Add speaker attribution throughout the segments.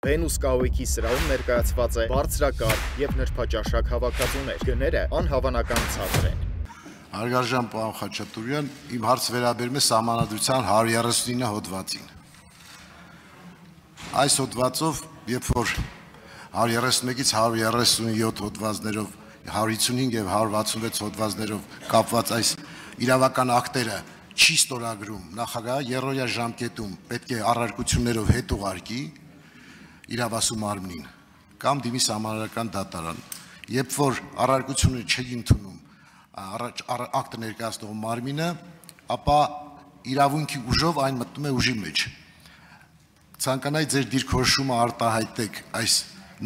Speaker 1: Վենուս կահույքի սրահում ներկայացված է բարձրակարգ եւ նրբաճաշակ հավաքածուներ։ Գները անհավանական ցածր են։
Speaker 2: Հարգարժան պարոն Խաչատուրյան, իմ հարցը վերաբերում է Սահմանադրության 139 հոդվածին։ Այս հոդվածով, երբ որ 131-ից 137 հոդվածներով, 155 եւ 166 հոդվածներով կապված այս իրավական ակտերը չի ստորագրում, նախագահը երրորդյա ժամկետում պետք է առարկություններով հետ ուղարկի իրավասու մարմնին կամ դիմի սահմանադրական դատարան, երբ որ առարկությունը չի ընդունում ակտը ներկայացնող մարմինը, ապա իրավունքի ուժով այն մտնում է ուժի մեջ։ Ցանկանայի ձեր դիրքորոշումը արտահայտեք այս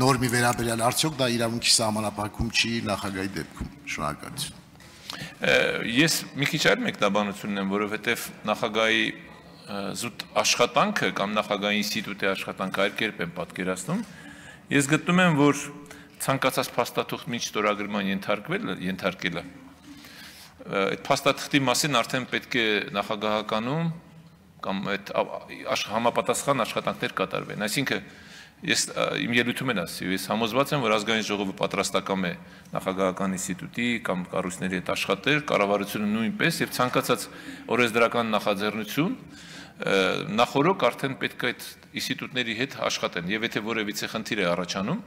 Speaker 2: նորմի վերաբերյալ, արդյոք դա իրավունքի սահմանափակում չի նախագահի դեպքում։ Շնորհակալություն։
Speaker 3: Ես մի քիչ այլ մեկնաբանություն եմ, որովհետև նախագահի զուտ աշխատանքը կամ նախագահի ինստիտուտի աշխատանքը այլ կերպ եմ պատկերացնում։ Ես գտնում եմ, որ ցանկացած փաստաթուղթ մինչ ստորագրման ենթարկելը այդ փաստաթղթի մասին արդեն պետք է նախագահականում կամ այդ համապատասխան աշխատանքներ կատարվեն։ Այսինքն ես իմ ելույթում եմ ասի, ես համոզված եմ, որ ազգային ժողովը պատրաստական է նախագահական ինստիտուտի կամ կառույցների հետ աշխատել, կառավարությունը նույնպես եւ ցանկացած օրենսդրական նախաձեռնություն նախորոք արդեն պետք է այդ ինստիտուտների հետ աշխատեն եւ եթե որևիցե խնդիր է առաջանում,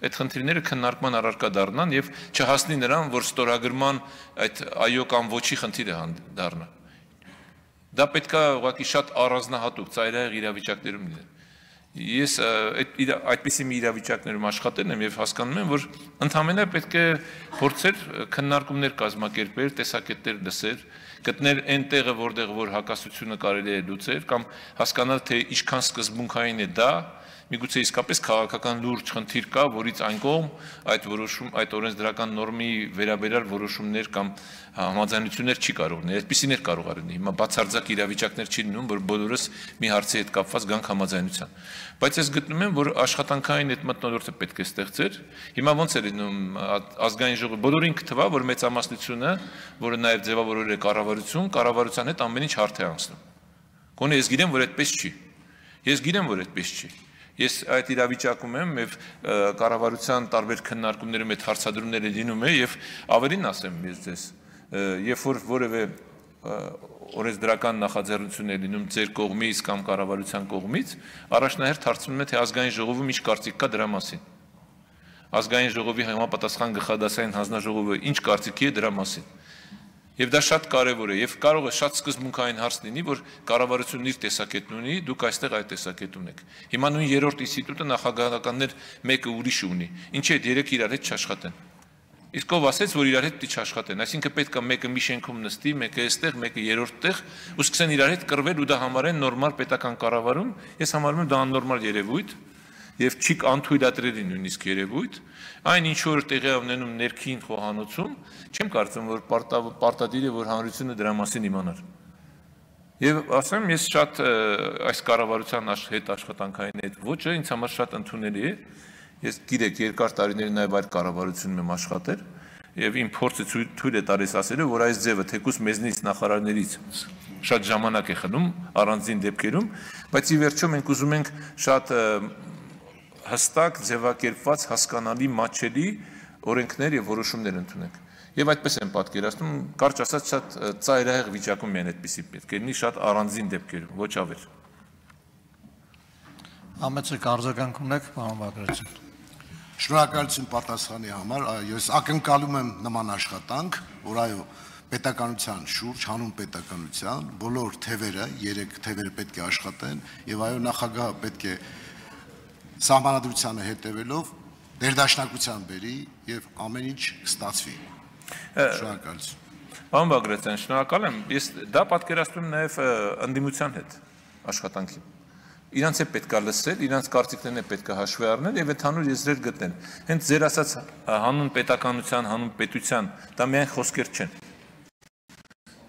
Speaker 3: այդ խնդիրները քննարկման առարկա դառնան եւ չհասնի նրան, որ ստորագրման այդ այո կամ ոչի խնդիրը դառնա։ Դա պետք է ուղղակի շատ առանձնահատուկ ծայրահեղ իրավիճակներում լինի։ Ես այդպիսի մի իրավիճակներում աշխատել եմ եւ հասկանում եմ, որ ընդհանրապես պետք է փորձել քննարկումներ կազմակերպել, տեսակետներ լսել, գտնել այն տեղը, որտեղ որ հակասությունը կարելի է լուծել կամ հասկանալ, թե ինչքան սկզբունքային է դա, միգուցե իսկապես քաղաքական լուրջ խնդիր կա, որից այն կողմ այդ օրենսդրական նորմի վերաբերյալ որոշումներ կամ համաձայնություններ չի կարող լինել, այդպիսիներ կարող լինի։ Հիմա բացարձակ իրավիճակներ չի լինում, որ բոլորս մի հարցի հետ կապված գանք համաձայնության։ Բայց ես գտնում եմ, որ աշխատանքային այդ մթնոլորտը պետք է ստեղծել։ Հիմա ոնց է լինում ազգային ժողովը բոլորին կթվա, որ մեծամասնությունը, որը նաև ձևավորել է կառավարության հետ ամեն ինչ հարթ է անցնում։ Գոնե ես գիտեմ, որ այդպես չի։ Ես գիտեմ, որ այդպես չի։ Ես այդ իրավիճակում եմ եւ կառավարության տարբեր քննարկումներում այդ հարցադրումները լինում է եւ ավելին ասեմ ես ձեզ, երբ որ որևէ օրենսդրական նախաձեռնություն է լինում ձեր կողմից կամ կառավարության կողմից, առաջնահերթ հարցնում է թե ազգային ժողովում ինչ կարծիք կա դրա մասին։ Ազգային ժողովի համապատասխան գլխադասային հանձնաժողովը ինչ կարծիքի է դրա մասին։ Եվ դա շատ կարևոր է եւ կարող է շատ սկզբունքային հարց լինի, որ կառավարությունն իր տեսակետն ունի, դուք այստեղ այդ տեսակետն ունեք։ Հիմա նույն երրորդ ինստիտուտը նախագահականներ մեկը ուրիշ ունի։ Ինչի՞ այդ երեք իրար հետ չաշխատեն։ Իսկ ով ասեց, որ իրար հետ չաշխատեն, այսինքն պետք է մեկը մի շենքում նստի, մեկը այստեղ, մեկը երրորդ տեղ, ու սկսեն իրար հետ կռվել ու դա համարեն նորմալ պետական կառավարում։ Ես համարում եմ դա աննորմալ երևույթ եւ չի անթույլատրելի նույնիսկ երևույթ, այն ինչ որ տեղի ունենում ներքին խոհանոցում, չեմ կարծում, որ պարտադիր է, որ հանրությունը դրա մասին իմանար։ Եվ ասեմ, ես շատ այս կառավարության հետ աշխատանքային այդ ոճը ինձ համար շատ ընդունելի է։ Ես գիտեք, երկար տարիներ նաև այլ կառավարությունում եմ աշխատել, եւ իմ փորձը թույլ է տալիս ասելու, որ այս ձևը թեկուզ մեզնից նախարարներից շատ ժամանակ է խլում առանձին դեպքերում, բայց ի վերջո մենք ուզում ենք շատ հստակ ձևակերպված հասկանալի մատչելի օրենքներ եւ որոշումներ ընդունենք։ Եվ այդպես եմ պատկերացնում, կարճ ասած շատ ծայրահեղ վիճակում են այդպիսի պետք է լինի շատ առանձին դեպքերում, ոչ ավել։
Speaker 4: Ամեցը արձագանք ունեք, պարոն Բագրատյան։
Speaker 2: Շնորհակալություն պատասխանի համար, ես ակնկալում եմ նման աշխատանք, որ այո, պետականության շուրջ, հանուն պետականության, բոլոր թևերը, 3 թևերը պետք է աշխատեն եւ այո, նախագահը պետք է սահմանադրությանը հետևելով ներդաշնակության բերի եւ ամեն ինչ կստացվի։ Շնորհակալություն։
Speaker 3: Պարոն Բագրատյան, շնորհակալ եմ։ Ես դա պատկերացնում եմ նաեւ ընդդիմության հետ աշխատանքին։ Իրանց է պետք է լսել, իրանց կարծիքներն է պետք է հաշվի առնել եւ ընդհանուր եզրեր գտնել։ Հենց ձեր ասած հանուն պետականության, հանուն պետության, դա միայն խոսքեր չեն։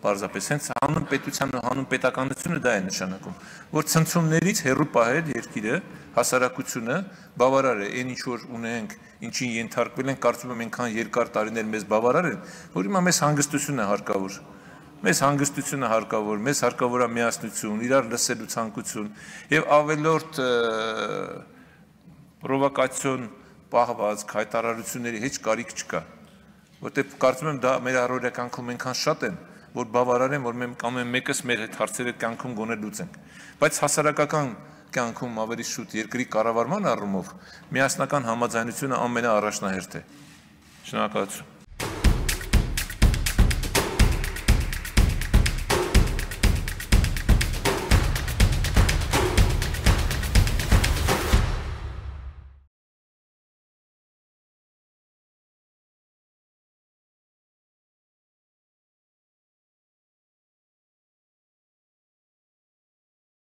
Speaker 3: Պարզապես հենց հանուն պետության ու հանուն պետականությունը դա է նշանակում, որ ցնցումներից հեռու պահել երկիրը, հասարակությունը բավարար է, այն ինչ որ ունենք, ինչին ենթարկվել ենք, կարծում եմ այնքան երկար տարիներ մեզ բավարար են, որ հիմա մեզ հանգստություն է հարկավոր։ Մեզ հանգստությունը հարկավոր, մեզ հարկավոր է միասնություն, իրար լսելու ցանկություն եւ ավելորդ պրովոկացիոն պահվածք հայտարարությունների heç կարիք չկա, որտեղ կարծում եմ դա մեր առօրյա կյանքում այնքան շատ են, որ բավարար են, որ մենք ամեն մեկս մեր հետ հարցերը կյանքում գոնե լուծենք, բայց հասարակական կյանքում ավելի շուտ երկրի կառավարման առումով միասնական համաձայնությունը ամենաառաջնահերթ է։ Շնորհակալություն։